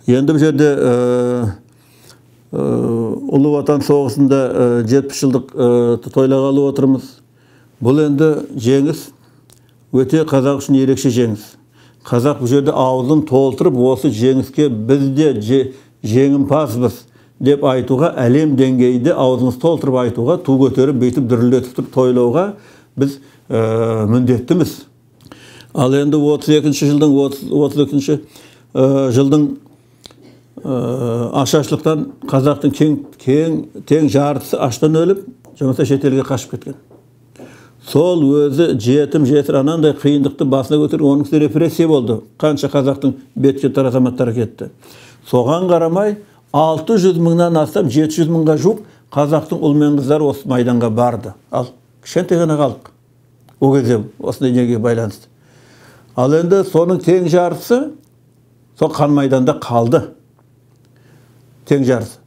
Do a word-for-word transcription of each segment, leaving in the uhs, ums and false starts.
Енді бұл жерде Ұлы Отан соғысында жетпіс жылдық тойлағалы отырмыз. Бұл енді жеңіс, өте қазақ үшін ерекше жеңіс. Қазақ бұл жерде аузын толтырып, осы жеңіске біз де жеңімпазбыз деп айтуға, әлем деңгейде аузымыз толтырып айтуға, ту көтеріп, бейтіп, дүрілдетіп тұрып тойлауға біз міндеттіміз. Ал енді отыз екінші жылдың отыз екінші жылдың ашаршылықтан қазақтың тең жартысы аштан өліп, жұмыста шетелге қашып кеткен. Сол өзі жетім жесір анандай қиындықты басына көтеріп, оның үстіне репрессия болды. Қанша қазақтың бет-жеттар азаматтары кетті. Соған қарамай алты жүз мыңнан астам, жеті жүз мыңға жуық қазақтың ұл мен қыздары осы майданға барды. Ал кішкентай ғана халық. О кезде осындай неге байланысты. Ал енді соның тең жартысы сол қан майданда қалды. Тең жарысы.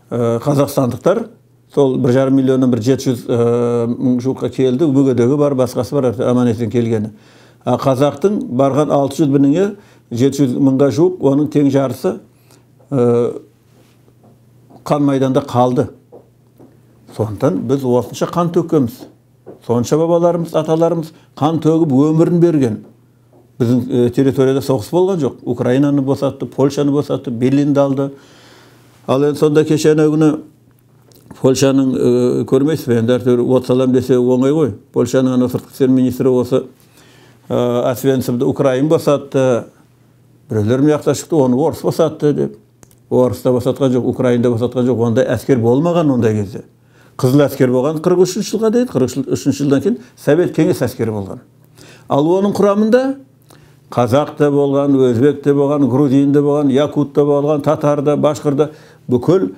Қазақстандықтар сол бір жарым миллионнан бір жеті жүз мың жуыққа келді, мүгедегі бар, басқасы бар, аман есен келгені. Қазақтың барған алты жүз бініңе жеті жүз мыңға жуық, оның тең жарысы қан майданда қалды. Сондықтан біз осынша қан төккенбіз. Сонша бабаларымыз, аталарымыз қан төгіп өмірін берген. Біздің территорияда соғыс болған жоқ. Украинаны босатты, Польшаны босатты, Берлинді алды. Ал енді сонда кешені күні Польшаның көрмейсіз бе, енді әртүр от салам десе оңай ғой. Польшаның ана сыртқы істер министрі осы Освенцимді Украин босатты, біреулер мияқта шықты, оны орыс босатты деп. Орыс та босатқан жоқ, Украинда босатқан жоқ, ондай әскер болмаған ондай кезде. Қызыл әскер болған қырық үшінші жылға дейін, қырық үшінші жылдан кейін Совет кеңес әскері болған. Ал оның құрамында қазақ та болған, өзбек те болған, грузин де болған, якут та болған, татар да, башқыр да, бүкіл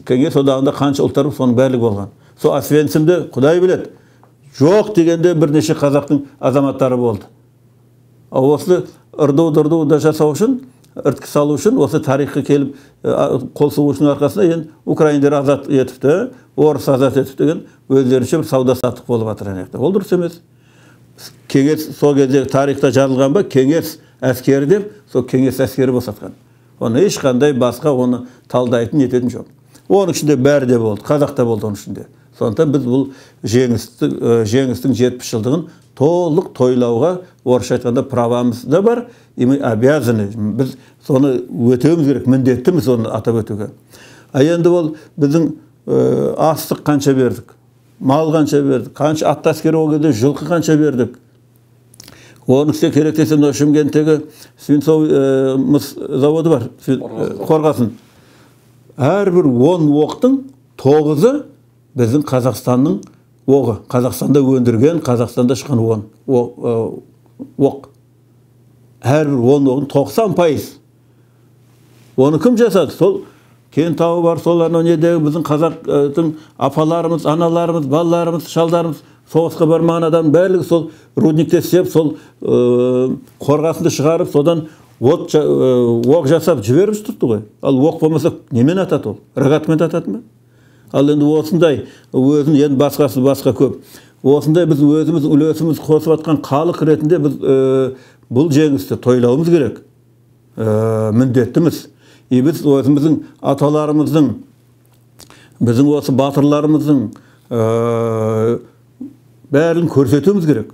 кеңес одағында қанша ұлттар соның бәрі болған. Сол Освенцимде құдай біледі, жоқ дегенде бірнеше қазақтың азаматтары болды. Осы ырду-дырду да жасау үшін, ірткі салу үшін, осы тарихқа келіп қол сұғушының арқасында енді украиндер азат етіпті, орыс азат етіпті деген өздерінше бір сауда саттық болып жатыр. Ол дұрыс емес. Кеңес сол кезде тарихта жазылған ба, кеңес әскері деп, сол кеңес әскері босатқан. Оны ешқандай басқа оны талдайтын ететін жоқ. Оның ішінде бәрі де болды, қазақ та болды оның ішінде. Сондықтан біз бұл жеңістің жетпіс жылдығын толық тойлауға, орысша айтқанда правамыз да бар, и мы обязаны. Біз соны өтеуіміз керек, міндеттіміз оны атап өтуге. А енді ол біздің астық қанша бердік, мал қанша бердік, қанша атты әскері ол кезде жылқы қанша бердік. Оның үстіне керек десе, Шымкенттегі свинцовый мыс заводы бар, Қорғасын. Әрбір он оқтың тоғызы біздің Қазақстанның оғы. Қазақстанда өндірген, Қазақстанда шыққан оқ. Әрбір он оғын тоқсан пайыз. Оны кім жасады? Сол Кентауы бар, соларына недегі біздің қазақтың апаларымыз, аналарымыз, балаларымыз, шалдарымыз, соғысқа бармаған адам бәрілігі сол рудникте істеп, сол Қорғасынды шығарып, содан оқ жасап жіберіп тұрды ғой. Ал оқ болмаса немен атады ол? Рогатымен атады ма? Ал енді осындай өзін, енді басқасы басқа көп. Осындай біз өзіміз үлесіміз қосып атқан халық ретінде біз бұл жеңісті тойлауымыз керек. Міндеттіміз. И біз өзіміздің аталарымыздың, біздің осы батырларымыздың бәрін көрсетуіміз керек.